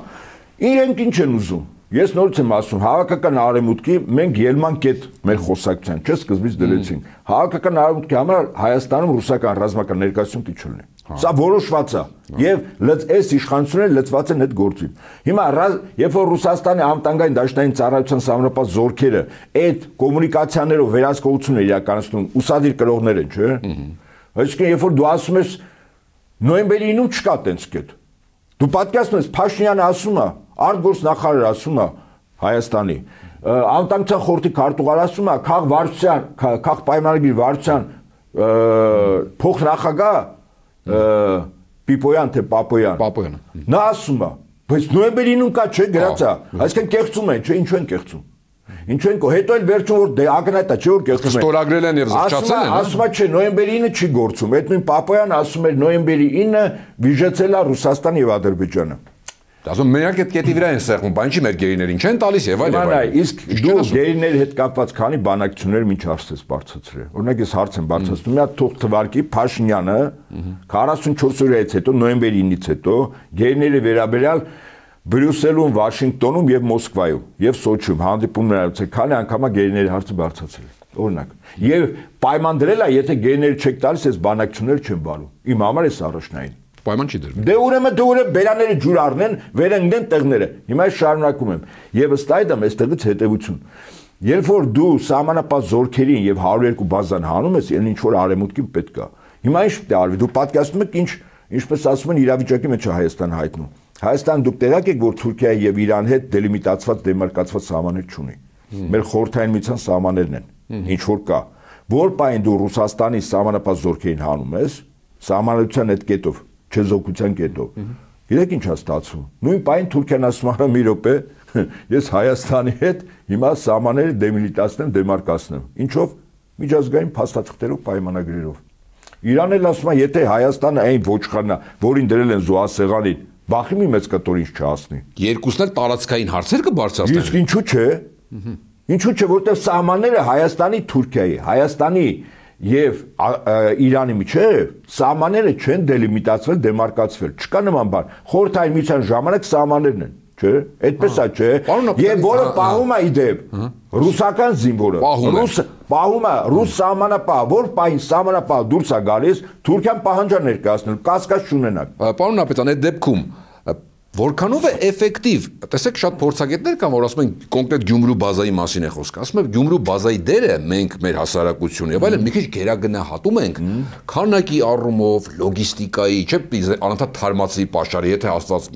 իրենք ինչ են ուզում ես նորից եմ ասում հավաքական արևմուտքի մենք ելման կետ մեր խոսակցության չէ սկզբից դրեցինք հավաքական արևմուտքի համար Հայաստանում ռուսական ռազմական ներկայություն պիտի չլինի Սա որոշված է եւ այս իշխանությունները լծված են այդ գործին։ Հիմա երբ որ Ռուսաստանի անվտանգային դաշտային ծառայության սահմանապահ զորքերը այդ կոմունիկացիաներով վերահսկողություն իրականացնում, ուսադիր կրողներ են, չէ՞։ Այսինքն երբ որ դու ասում ես նոյեմբերի ինը չկա տենց կետ։ Դու պատկերացնում ես Փաշինյանը ասում է, արտգործնախարարը ասում է Հայաստանի, անվտանգության խորհրդի քարտուղարը ասում է, քաղ վարչության, քաղ պայմանագիր վարչության փոխնախագահ Պիպոյան թե Պապոյան։ Պապոյանը։ Նա ասում է, բայց նոյեմբերի ինը կա չէ գրած է, այսինքն կեղծում են, չէ, ինչու են կեղծում։ Ինչու են կո հետո էլ վերջում որ դե ակնհայտ է չէ որ կեղծում են։ Ստորագրել են եւ զղջացել են։ Ասում է չէ նոյեմբերի ինը չի գործում։ Այդ նույն Պապոյանը ասում էր նոյեմբերի ինը վիժեցել է Ռուսաստանը եւ Ադրբեջանը։ Ասում մենակ այդ կետի վրա են սեղմում, բան չի մեր գերիներին չեն տալիս եւ այլ եւ այլ։ Իսկ դու գերիների հետ կապված քանի բանակցություններ ինչ հարցես բարձրացրել։ Օրինակ ես հարց եմ բարձրացնում, մի հատ թող թվարկի Փաշինյանը քառասունչորս օրից հետո նոյեմբերի ինից հետո գերիների վերաբերյալ Բրյուսելում, Վաշինգտոնում եւ Մոսկվայում եւ Սոչիում հանդիպումներ արեցել, քանի անգամ է գերիների հարցը բարձրացրել։ Օրինակ։ Եվ պայման դրել է, եթե գերիները չեք տալիս, այս բանակցությունները չեն բանում։ Իմ համար էս առաջնային։ Պայման չի դրվում։ Դե ուրեմն դու ուրեմն բերաները ջուր առնեն, վերընկնեն տեղները։ Հիմա ես շարունակում եմ։ Եվ ըստ այդմ այստեղից հետևություն։ Երբ որ դու սահմանապահ զորքերին եւ հարյուր երկու բազան հանում ես, այն ինչ որ արեմուտքին պետք է։ Հիմա ինչ պետք է արվի։ Դու պատկերացնում ես ինչ, ինչպես ասում են, իրավիճակի մեջ է Հայաստան հայտնում։ Հայաստան դուք տեղյակ եք, որ Թուրքիայի եւ Իրանի հետ դելիմիտացված, դեմարկացված սահմաններ չունի։ Մեր խորհրդային միության սահմաններն են, ինչ որ կա։ Որ պայն դու Ռուսաստանի սահմանապահ զորքերին հանում ես, սահմանադրության այդ կետով, չեզոքության կետով։ Իրեք ինչ է ստացվում։ Նույն պայն Թուրքիան ասում է՝ մի րոպե, ես Հայաստանի հետ հիմա սահմանները դեմիլիտացնեմ, դեմարկացնեմ։ Ինչով միջազգային փաստաթղթերով, պայմանագրերով։ Իրանն էլ ասում է, եթե Հայաստանը այն ոչխարն է, որին դրել են զոհասեղանին, բախի մի մեծ կտոր ինչ չհասնի։ Երկուսն էլ տարածքային հարցեր կբարձրացնեն։ Իսկ ինչու՞ չէ։ Ինչու՞ չէ, որտեղ սահմանները Հայաստանի, Թուրքիայի, Հայաստանի եւ Իրանի միջեւ սահմանները չեն դելիմիտացվել, դեմարկացվել։ Չկա նման բան։ Խորհրդային միության ժամանակ սահմաններն են, չէ՞։ Այդպես է, չէ։ Եվ որը պահում է իդեպ ռուսական զինվորը։ Ռուս պահում է ռուս սահմանապահ, որ պահին սահմանապահ դուրս է գալիս, Թուրքիան պահանջա ներկայացնել, կասկած չունենաք։ Պարոն Նապետյան, այդ դեպքում որքանով է էֆեկտիվ, տեսեք շատ փորձագետներ կան, որ ասում են կոնկրետ Գյումրու բազայի մասին է խոսքը, ասում են Գյումրու բազայի դերը մենք մեր հասարակությունը եւ այլն մի քիչ գերագնահատում ենք քանակի առումով, լոգիստիկայի, չէ՞, անընդհատ թարմացի պաշարի, եթե Աստված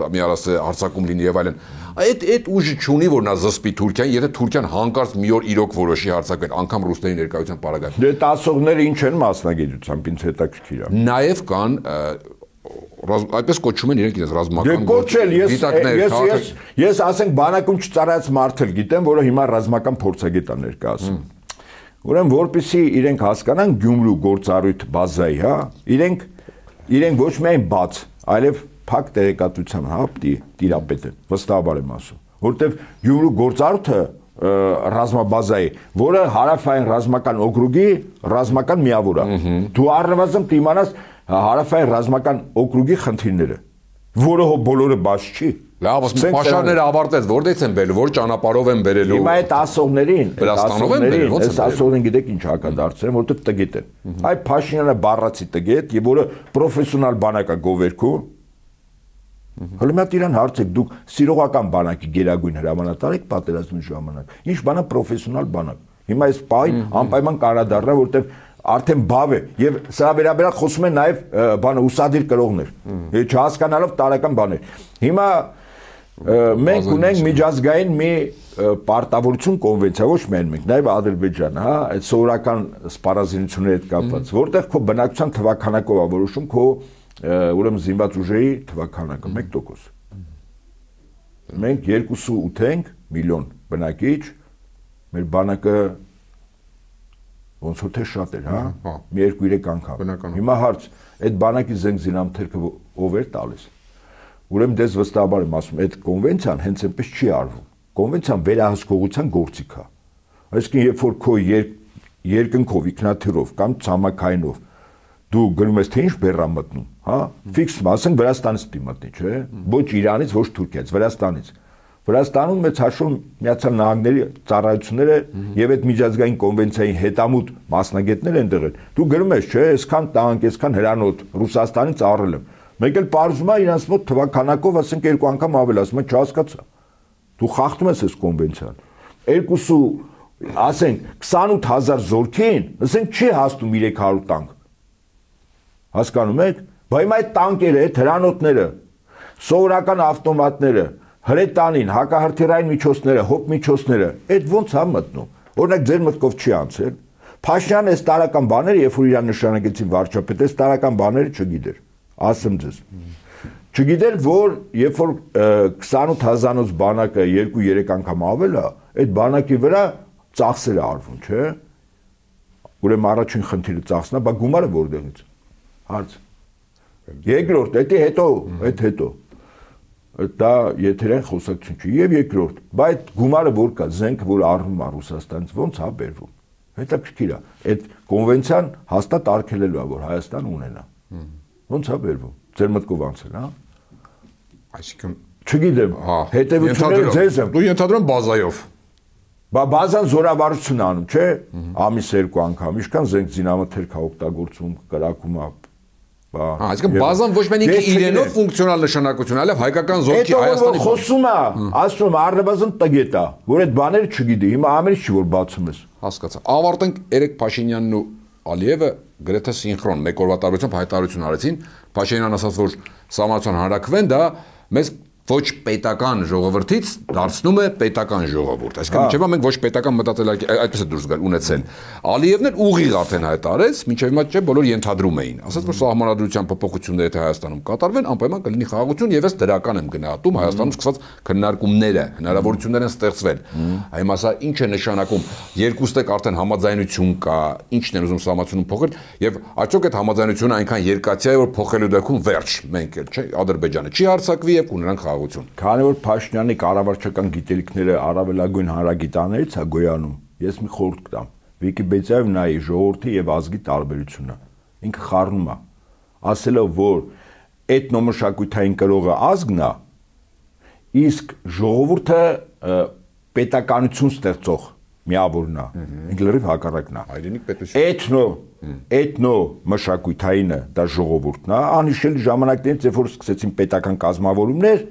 մի արած հարցակում լինի եւ այլն։ Այդ այդ ուժը չունի, որ նա զսպի Թուրքիան, եթե Թուրքիան հանկարծ մի օր իրոք որոշի հարձակվել, անգամ ռուսների ներկայության պարագայում։ Դե տասողները ինչ են մասնագիտությամբ, ինձ հետաքրքիր է։ Նաեւ կան այդպես կոչում են իրենք իրենց ռազմական գործեր, ես ես ես ասենք բանակում չծառայած մարդ էլ գիտեմ, որը հիմա ռազմական փորձագետ է ներկայացում։ Ուրեմն որպեսզի իրենք հասկանան Գյումրու գործառույթ բազայի, հա, իրենք իրենք ոչ միայն բաց, այլև փակ տեղեկատվության, հա, տիրապետ են, վստահաբար եմ ասում, որտեվ Գյումրու գործառույթը ռազմաբազայի, որը հարավային ռազմական օկրուգի ռազմական միավոր է։ Դու առնվազն կիմանաս հարավային ռազմական օկրուգի խնդիրները, որը բոլորը բաց չի։ Լավ, պաշարները ավարտեց, որտեղից են բերել, որ ճանապարհով են բերելու։ Հիմա այդ ասողներին, Վրաստանով են բերել, ո՞նց են ասողներին գիտեք ինչ հակադարձել, որտեղ տգետ են։ Այ Փաշինյանը բառացի տգետ, եւ որը պրոֆեսիոնալ բանակ է գովերքու։ Հələ մի հատ իրան հարցեք, դուք սիրողական բանակի գերագույն հրամանատար եք պատերազմի ժամանակ։ Ինչ բանա պրոֆեսիոնալ բանակ։ Հիմա այս պահին անպայման կարադառնա, որտեղ արդեն բավ է եւ սրա վերաբերյալ խոսում են նաեւ բանը ուսադիր կրողներ չհասկանալով տարական բաներ հիմա մենք ունենք միջազգային մի պարտավորություն կոնվենցիա ոչ միայն մենք նաեւ Ադրբեջանը հա այդ սովորական սպառազինությունների հետ կապված որտեղ քո բնակչության թվականակով է որոշում քո ուրեմն զինված ուժերի թվականակը մեկ տոկոս մենք երկուսը ութ ենք միլիոն բնակիչ մեր բանակը ոնց որ թե շատ էր, հա, մի երկու երեք անգամ։ Հիմա հարց, այդ բանակի զենք զինամթերքը ով էր տալիս։ Ուրեմն դες վստահաբար եմ ասում, այդ կոնվենցիան հենց այնպես չի արվում։ Կոնվենցիան վերահսկողության գործիք է։ Այսինքն, երբ որ քո երկնքով, ինքնաթիռով կամ ցամաքայինով դու գնում ես թե ինչ բեռա մտնում, հա, ֆիքս մասն Վրաստանից պիտի մտնի, չէ՞։ Ոչ Իրանից, ոչ Թուրքիայից, Վրաստանից։ Վրաստանում մեծ հաշվով Միացյալ Նահանգների ծառայությունները եւ այդ միջազգային կոնվենցիայի հետամուտ մասնագետներ են դրել։ Դու գրում ես, չէ, այսքան տանկ, այսքան հրանոթ Ռուսաստանից առել եմ։ Մեկ էլ պարզում է իրանց մոտ թվականակով, ասենք երկու անգամ ավել, ասում եմ, չհասկացա։ Դու խախտում ես այս կոնվենցիան։ Երկուսու, ասենք, քսանութ հազար զորքին, ասենք չի հասնում երեք հարյուր տանկ։ Հասկանում եք, բայց այդ տանկերը, այդ հրանոթները, սովորական ավտոմատները, հրետանին, հակահրթիռային միջոցները, հոպ միջոցները, այդ ոնց է մտնում։ Օրինակ ձեր մտքով չի անցել։ Փաշինյանը այս տարական բաները, երբ որ իրան նշանակեցին վարչապետ, այս տարական բաները չգիտեր։ Ասեմ ձեզ։ Չգիտեր, որ երբ որ քսանութ հազարով բանակը երկու երեք անգամ ավել է, այդ բանակի վրա ծախսեր է արվում, չէ՞։ Ուրեմն առաջին խնդիրը ծախսն է, բայց գումարը որտեղից։ Հարց։ Երկրորդ, դա հետո, այդ հետո։ Դա եթերային խոսակցություն չի։ Եվ երկրորդ, բայց գումարը որ կա, զենք որ առնում է Ռուսաստանից, ոնց է բերվում։ Հետաքրքիր է, այդ կոնվենցիան հաստատ արգելելու է, որ Հայաստանը ունենա։ Ոնց է բերվում։ Ձեր մտքով անցել, հա։ Այսինքն չգիտեմ, հետևությունները ձեզ եմ։ Դու ենթադրում բազայով։ Բա բազան զորավարություն անում, չէ՞։ Ամիս երկու անգամ, ինչքան զենք զինամթերք է օգտագործում, կրակում է։ Հա, այսինքն բազան ոչ միայն ինքը իրենով ֆունկցիոնալ նշանակություն, այլև հայկական զորքի Հայաստանի խոսում է, ասում է, առնվազն տգետ է, որ այդ բաները չգիտի, հիմա ամենից չի որ բացում ես։ Հասկացա։ Ավարտենք Էրիկ Փաշինյանն ու Ալիևը գրեթե սինխրոն մեկ օրվա տարբերությամբ հայտարարություն արեցին։ Փաշինյանն ասաց, որ սահմանության հանրակրվեն դա մեզ ոչ պետական ժողովրդից դարձնում է պետական ժողովուրդ։ Այսինքն մինչև մենք ոչ պետական մտածելակերպ այդպես է դուրս գալ ունեցել։ Ալիևն էլ ուղիղ արդեն հայտարարեց, մինչև հիմա չէ բոլոր ենթադրում էին։ Ասաց, որ սահմանադրության փոփոխությունները թե Հայաստանում կատարվեն, անպայման կլինի խաղաղություն եւ ես դրական եմ գնահատում Հայաստանում սկսած քննարկումները, հնարավորություններ են ստեղծվել։ Այմ ասա ինչ է նշանակում, երկուստեք արդեն համաձայնություն կա, ինչն են ուզում սահմանությունը փոխել եւ աճոք այդ համաձայնությունը այնքան երկաթյա է, որ փոխելու դեպքում վերջ մենք էլ չէ Ադրբեջանը չի հարձակվի եւ կունենանք Քանի որ Փաշինյանի կառավարչական գիտելիքները առավելագույն հանրագիտաներից է գոյանում, ես մի խորհուրդ կտամ։ Վիկիպեդիայով նայի ժողովրդի եւ ազգի տարբերությունը։ Ինքը խառնում է, ասելով, որ էթնոմշակութային կրողը ազգն է, իսկ ժողովուրդը պետականություն ստեղծող միավորն է։ Ինքը լրիվ հակառակն է։ Հայրենիք պետություն։ Էթնո, էթնո մշակութայինը դա ժողովուրդն է, անհիշելի ժամանակներից, երբ որ սկսեցին պետական կազմավորումներ,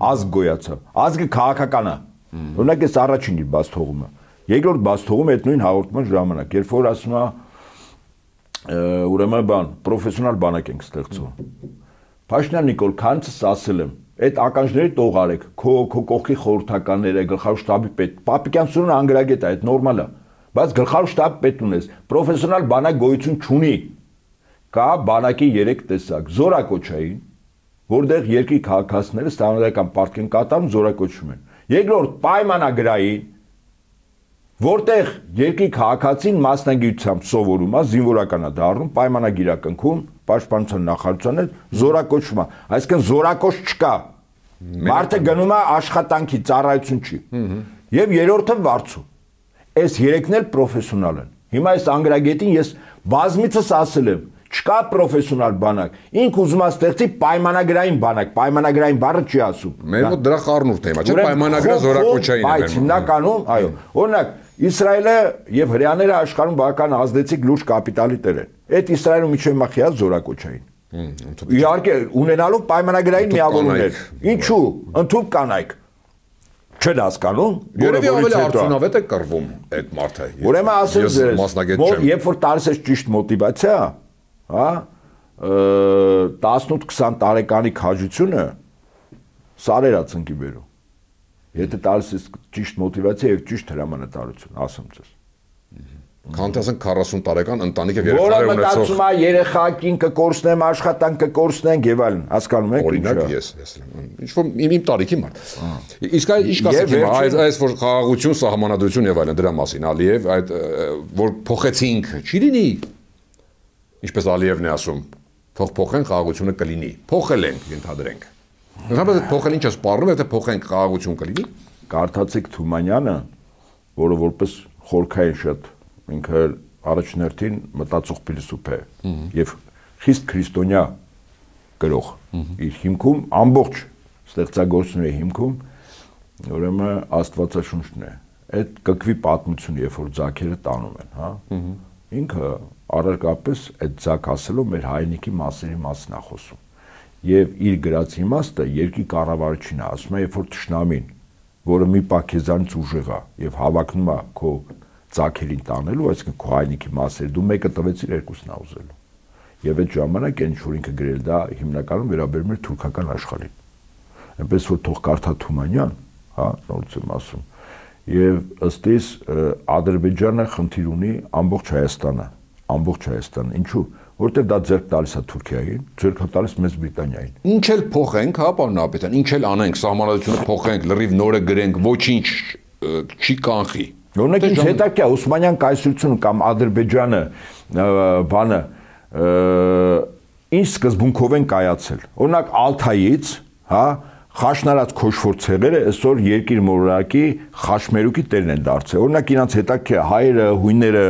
ազգ գոյացավ։ Ազգը քաղաքական է։ Օրինակ էս առաջին իր բաց թողումը։ Երկրորդ բաց թողումը այդ նույն հաղորդման ժամանակ, երբ որ ասում է ուրեմն բան, պրոֆեսիոնալ բանակ ենք ստեղծում։ Փաշինյան Նիկոլ, քանցս ասել եմ, այդ ականջների տող արեք, քո քո կողքի խորհրդականները, գլխավոր շտաբի պետ, Պապիկյան Սուրենը անգրագետ է, այդ նորմալ է, բայց գլխավոր շտաբի պետ ունես, պրոֆեսիոնալ բանակ գոյություն չունի։ Կա բանակի երեք տեսակ, զորակոչային, որտեղ երկրի քաղաքացիները ստանալական պարտք են կատարում, զորակոչում են։ Երկրորդ պայմանագրային, որտեղ երկրի քաղաքացին մասնագիտությամբ սովորում է, զինվորական է դառնում, պայմանագիր է կնքում, պաշտպանության նախարարության հետ զորակոչում է, այսինքն զորակոչ չկա։ Մարդը գնում է աշխատանքի, ծառայություն չի։ Եվ երրորդը վարձու։ Այս երեքն էլ պրոֆեսիոնալ են։ Հիմա այս անգրագետին ես բազմիցս ասել եմ, չկա պրոֆեսիոնալ բանակ։ Ինք ուզում է ստեղծի պայմանագրային բանակ, պայմանագրային բառը չի ասում։ Մեր մոտ դրա խառնուրդն է, չէ՞ պայմանագրը զորակոչային է։ Բայց հիմնականում, այո, օրինակ Իսրայելը եւ հրեաները աշխարհում բավական ազդեցիկ լուրջ կապիտալի տեր են։ Այդ Իսրայելում միջև մախիա զորակոչային։ Իհարկե, ունենալով պայմանագրային միավորումներ։ Ինչու՞, ընդհանուր կանայք։ Չեն հասկանում, որը ավելի արդյունավետ է կռվում այդ մարդը։ Ուրեմն ասեմ ձեզ, որ երբ որ տալիս ես ճիշտ մոտիվացիա, հա, տասնութ քսան տարեկանի քաջությունը սարերա ցնկի բերում։ Եթե տալիս ես ճիշտ մոտիվացիա եւ ճիշտ հրամանատարություն, ասեմ ձեզ։ Քանտ ասենք քառասուն տարեկան ընտանիք եւ երեխաներ ունեցող։ Որը մտածում է երեխակին կկորցնեմ, աշխատանք կկորցնենք եւ այլն, հասկանում եք ինչ է։ Օրինակ ես, ես ինչ որ իմ տարիքի մարդ։ Իսկ ինչ կասեք հիմա, այս այս որ խաղաղություն, սահմանադրություն եւ այլն դրա մասին Ալիև, այդ որ փոխեցինք, չի լինի։ Ինչպես Ալիևն է ասում, թող փոխեն խաղաղությունը կլինի։ Փոխել ենք, ենթադրենք։ Ընդհանրապես փոխել ինչ է սպառնում, եթե փոխենք խաղաղություն կլինի։ Կարդացեք Թումանյանը, որը որպես խորքային շատ ինքը առաջներտին մտածող փիլիսոփ է եւ խիստ քրիստոնյա գրող իր հիմքում ամբողջ ստեղծագործությունների հիմքում ուրեմն Աստվածաշունչն է այդ կկվի պատմությունը երբ որ ձակերը տանում են հա ինքը առարկապես այդ ձակ ասելով մեր հայրենիքի մասերի մասն է խոսում եւ իր գրած իմաստը երկրի կառավարչին է ասում է երբ որ թշնամին որը մի պահ քեզանից ուժեղ է եւ հավակնում է քո ձակերին տանելու, այսինքն քո հայրենիքի մասերը, դու մեկը տվեցիր, երկուսն ա ուզելու։ Եվ այդ ժամանակ այն ինչ որ ինքը գրել դա հիմնականում վերաբերում էր թուրքական աշխարհին։ Այնպես որ թող կարդա Թումանյան, հա, նորից եմ ասում։ Եվ ըստ իս Ադրբեջանը խնդիր ունի ամբողջ Հայաստանը, ամբողջ Հայաստանը։ Ինչու՞։ Որտեղ դա ձեռք տալիս է Թուրքիային, ձեռք տալիս Մեծ Բրիտանիային։ Ինչ էլ փոխենք, հա, պարոն Նահապետյան, ինչ էլ անենք, սահմանադրությունը փոխենք, լրիվ նորը գրենք, ոչինչ չի կանխի։ Օրինակ ինչ հետաքրքիր է Օսմանյան կայսրությունը կամ Ադրբեջանը բանը ինչ սկզբունքով են կայացել։ Օրինակ Ալթայից, հա, խաշնարած քոշֆոր ցեղերը այսօր երկիր մոլորակի խաշմերուկի տերն են դարձել։ Օրինակ իրանց հետաքրքիր է հայերը, հույները,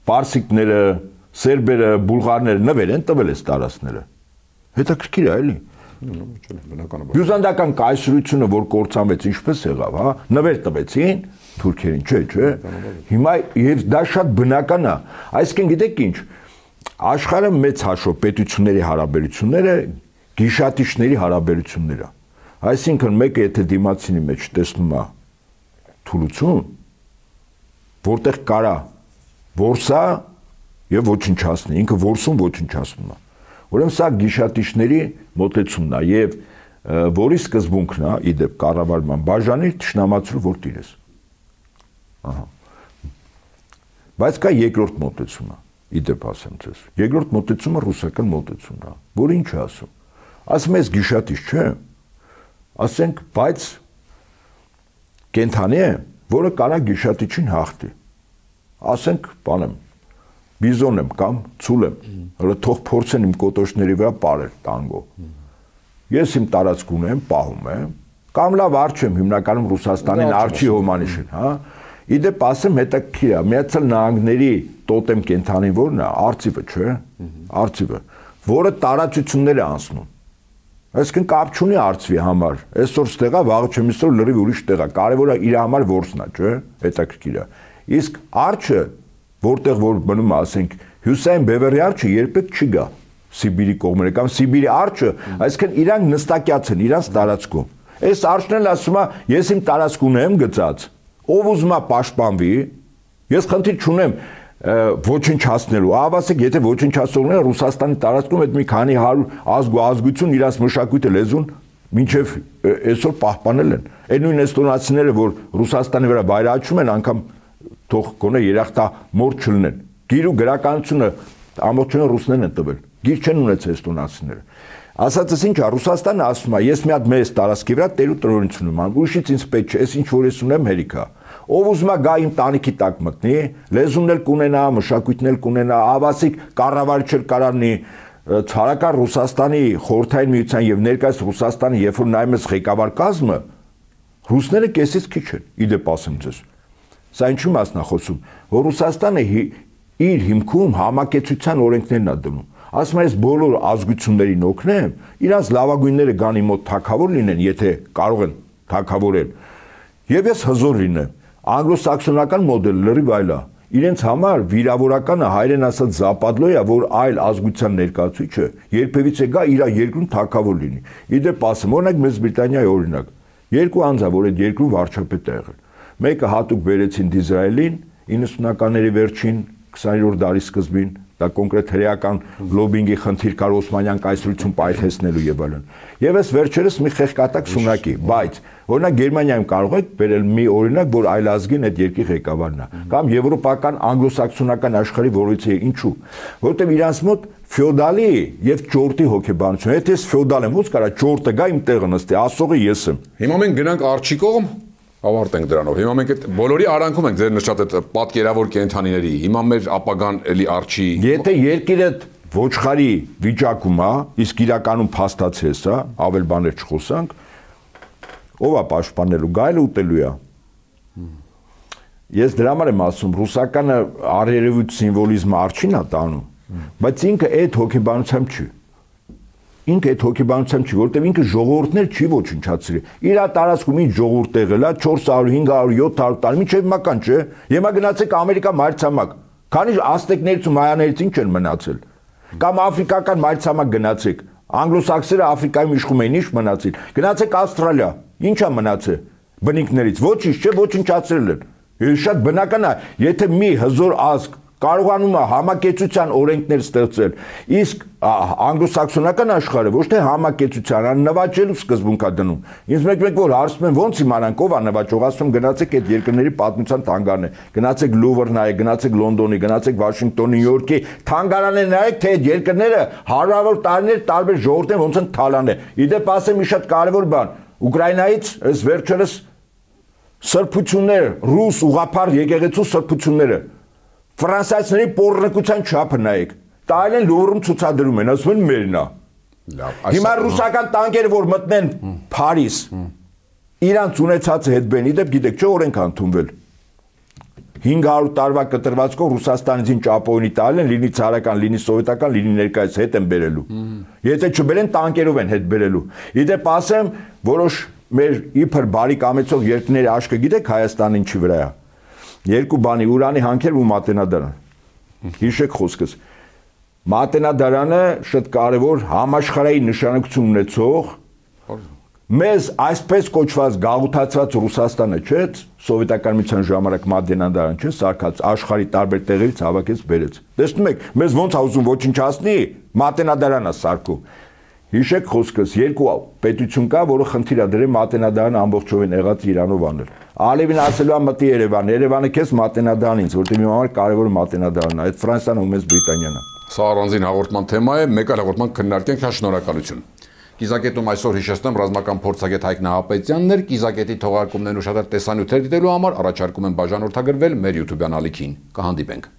պարսիկները, սերբերը, բուլղարները նվեր են տվել այս տարածքները։ Հետաքրքիր է, էլի։ Բյուզանդական կայսրությունը, որ կործանվեց, ինչպես եղավ, հա, նվեր տվեցին թուրքերին, չէ, չէ։ Հիմա եւ դա շատ բնական է։ Այսինքն գիտեք ինչ, աշխարհը մեծ հաշվով պետությունների հարաբերությունները գիշատիչների հարաբերություններ է։ Այսինքն մեկը եթե դիմացինի մեջ տեսնում է թուլություն, որտեղ կարա որսա եւ ոչնչացնի, ինքը որսում ոչնչացնում է։ Ուրեմն սա գիշատիչների մոտեցումն է եւ որի սկզբունքն է իդեպ կառավարման բաժանի ճշնամացրու որ տիրես։ Ահա։ Բայց կա երկրորդ մոտեցումը, իդեպ ասեմ ձեզ։ Երկրորդ մոտեցումը ռուսական մոտեցումն է, որը ինչ է ասում։ Ասում ես գիշատիչ չէ։ Ասենք, բայց կենթանի է, որը կարա գիշատիչին հաղթի։ Ասենք, բանեմ, բիզոն եմ կամ ցուլ եմ, հələ թող փորձեն իմ կոտոշների վրա ապարել տանգո։ Ես իմ տարածք ունեմ, պահում եմ, կամ լավ արջ եմ հիմնականում Ռուսաստանին արջի հոմանիշին, հա։ Իդեպ ասեմ հետաքրքիր է, Միացյալ Նահանգների տոտեմ կենթանին որն է, արծիվը, չէ՞, արծիվը, որը տարածություններ է անցնում։ Այսինքն կապ չունի արծվի համար։ Այսօր ստեղա, վաղը չեմ իսօր լրիվ ուրիշ տեղ է։ Կարևորը իր համար որսն է, չէ՞, հետաքրքիր է։ Իսկ արջը, որտեղ որ մնում է, ասենք, հյուսային բևեռի արջը երբեք չի գա Սիբիրի կողմերը կամ Սիբիրի արջը, այսինքն իրանք նստակյաց են իրանց տարածքում։ Այս արջն էլ ասում է, ես իմ տարածք ունեմ գծած, ով ուզում է պաշտպանվի, ես խնդիր չունեմ ոչնչացնելու, ավասեք, եթե ոչնչացնողները Ռուսաստանի տարածքում այդ մի քանի հարյուր ազգ ու ազգություն իրանց մշակույթը լեզուն մինչև այսօր պահպանել են։ Այդ նույն էստոնացիները, որ Ռուսաստանի վրա վայրահաչում են, անգամ թող գոնե երախտամոռ չլինեն։ Գիր ու գրականությունը ամբողջովին ռուսներն են տվել։ Գիր չեն ունեցել էստոնացիները։ Ասածս ինչ է, Ռուսաստանը ասում է, ես մի հատ մեծ տարածքի վրա տեր ու տնօրինություն եմ անում, ուրիշից ինձ պետք չէ, ես ինչ որ ես ունեմ հերիքա։ Ով ուզում է գա իմ տանիքի տակ մտնի, լեզուն էլ կունենա, մշակույթն էլ կունենա, ավասիկ կառավարիչ էլ կարանի, ցարական Ռուսաստանի խորհրդային միության եւ ներկայիս Ռուսաստանի, երբ որ նայում ես ղեկավար կազմը, ռուսները կեսից քիչ են, իդեպ ասեմ ձեզ։ Սա ինչու մասն է խոսում, որ Ռուսաստանը իր հիմքում համակեցության օրենքներն է դնում։ Ասում եմ, ես բոլոր ազգություններին օգնեմ, իրանց լավագույնները գան իմ մոտ թագավոր լինեն, եթե կարող են թագավորել։ Եվ ես հզոր լինեմ։ Անգլոսաքսոնական մոդելը լրիվ այլ է։ Իրենց համար վիրավորականը հայերեն ասած զապադլոյ է, որ այլ ազգության ներկայացուցիչը երբևիցե գա իր երկրում թագավոր լինի։ Իդեպ ասեմ, օրինակ Մեծ Բրիտանիայի օրինակ, երկու անձ որ այդ երկրում վարչապետ է եղել։ Մեկը հատուկ բերեցին Դիզրայելին իննսունականների վերջին քսաներորդ դարի սկզբին, դա կոնկրետ հրեական լոբինգի խնդիր կար Օսմանյան կայսրություն պայթեցնելու եւ այլն։ Եվ այս վերջերս մի խեղկատակ սունակի, բայց օրինակ Գերմանիայում կարող եք բերել մի օրինակ, որ այլազգին այդ երկրի ղեկավարն է, կամ եվրոպական անգլոսաքսոնական աշխարհի որից է, ինչու, որտեղ իրանց մոտ ֆեոդալի եւ ճորտի հոգեբանություն, եթե ես ֆեոդալ եմ, ո՞նց կարա ճորտը գա իմ տեղը նստի, ասողը ես եմ։ Հիմա մենք գնանք արջի կողմ, ավարտենք դրանով։ Հիմա մենք այդ բոլորի արանքում ենք ձեր նշած այդ պատկերավոր կենթանիների։ Հիմա մեր ապագան էլի արջի։ Եթե երկիրը ոչխարի վիճակում է, իսկ իրականում փաստացես է, ավել բաներ չխոսանք, ով է պաշտպանելու, գայլը ուտելու է։ Ես դրա համար եմ ասում, ռուսականը արերևույթ սիմվոլիզմը արջին է տանում, բայց ինքը այդ հոգեբանությամբ չի։ Ինքը այդ հոգեբանությամբ չի, որտեղ ինքը ժողովուրդներ չի ոչնչացրել։ Իր տարածքում ինչ ժողովուրդ եղել է չորս հարյուր, հինգ հարյուր, յոթ հարյուր տարի, մինչև մական չէ։ Հիմա գնացեք Ամերիկա մայրցամաք։ Քանի ազտեկներից ու մայաներից ինչ են մնացել։ Կամ աֆրիկական մայրցամաք գնացեք։ Անգլոսաքսերը Աֆրիկայում իշխում էին, ինչ մնացին։ Գնացեք Ավստրալիա, ինչ է մնացել բնիկներից։ Ոչինչ չէ, ոչնչացրել են։ Շատ բնական է, եթե մի հզոր ազգ կարողանում է համակեցության օրենքներ ստեղծել, իսկ անգլոսաքսոնական աշխարհը ոչ թե համակեցության, այլ նվաճելու սկզբունք է դնում։ Ինձ մեկ-մեկ որ հարցում են ո՞նց իմանանք ով է նվաճող, ասում գնացեք այդ երկրների պատմության թանգարանը, գնացեք Լուվր նայեք, գնացեք Լոնդոնի, գնացեք Վաշինգտոնի, Նյու Յորքի թանգարանը նայեք, թե այդ երկրները հարյուրավոր տարիներ տարբեր ժողովուրդներ ոնց են թալանել։ Իդեպ ասեմ մի շատ կարևոր բան, Ուկրաինայից այս վերջերս սրբությունները, ռուս ուղղափառ եկեղեցու սրբությունները ֆրանսիացիների պոռնկության չափը նայեք։ Տայել են Լուվրում ցուցադրում են, ասում են մերն է։ Հիմա ռուսական տանկերը որ մտնեն Փարիզ, իրանց ունեցածը հետ բեն, իդեպ գիտեք, չէ՞ օրենք ընդունվել։ հինգ հարյուր տարվա կտրվածքով Ռուսաստանից ինչ ճապոնի տալն են, լինի ցարական, լինի սովետական, լինի ներկայից հետ են բերելու։ Եթե չբերեն տանկերով են հետ բերելու։ Իդեպ ասեմ, որոշ մեր իբր բարի կամեցող երկրների աշկը գիտեք Հայաստանը ինչի վրա է։ Երկու բանի Ուրանի հանքեր ու Մատենադարան։ Հիշեք խոսքս։ Մատենադարանը շատ կարևոր համաշխարհային նշանակություն ունեցող մեզ այսպես կոչված գաղութացված Ռուսաստանը չէ, սովետական միության ժամանակ Մատենադարան չէ, սարքած աշխարհի տարբեր տեղերից հավաքեց բերեց։ Տեսնում եք, մեզ ոնց է ուզում ոչնչացնի, Մատենադարանն է սարքում։ Հիշեք խոսքս, երկու պետություն կա, որը խնդիր է դրել Մատենադարանը ամբողջովին եղած Իրանով անել։ Ալևին ասելու է մտի Երևան, Երևանը քեզ Մատենադարան ինձ, որտեղ իմ համար կարևորը Մատենադարն է, այդ Ֆրանսիան ու մեծ Բրիտանիան է։ Սա առանձին հաղորդման թեմա է, մեկ այլ հաղորդման քննարկենք, շնորհակալություն։ Կիզակետում այսօր հիշեցնեմ ռազմական փորձագետ Հայկ Նահապետյանն էր, Կիզակետի թողարկումներն ու շատ տեսանյութեր դիտելու համար առաջարկում եմ բաժանորդագրվել մեր YouTube-յան ալիքին։ Կհանդիպենք։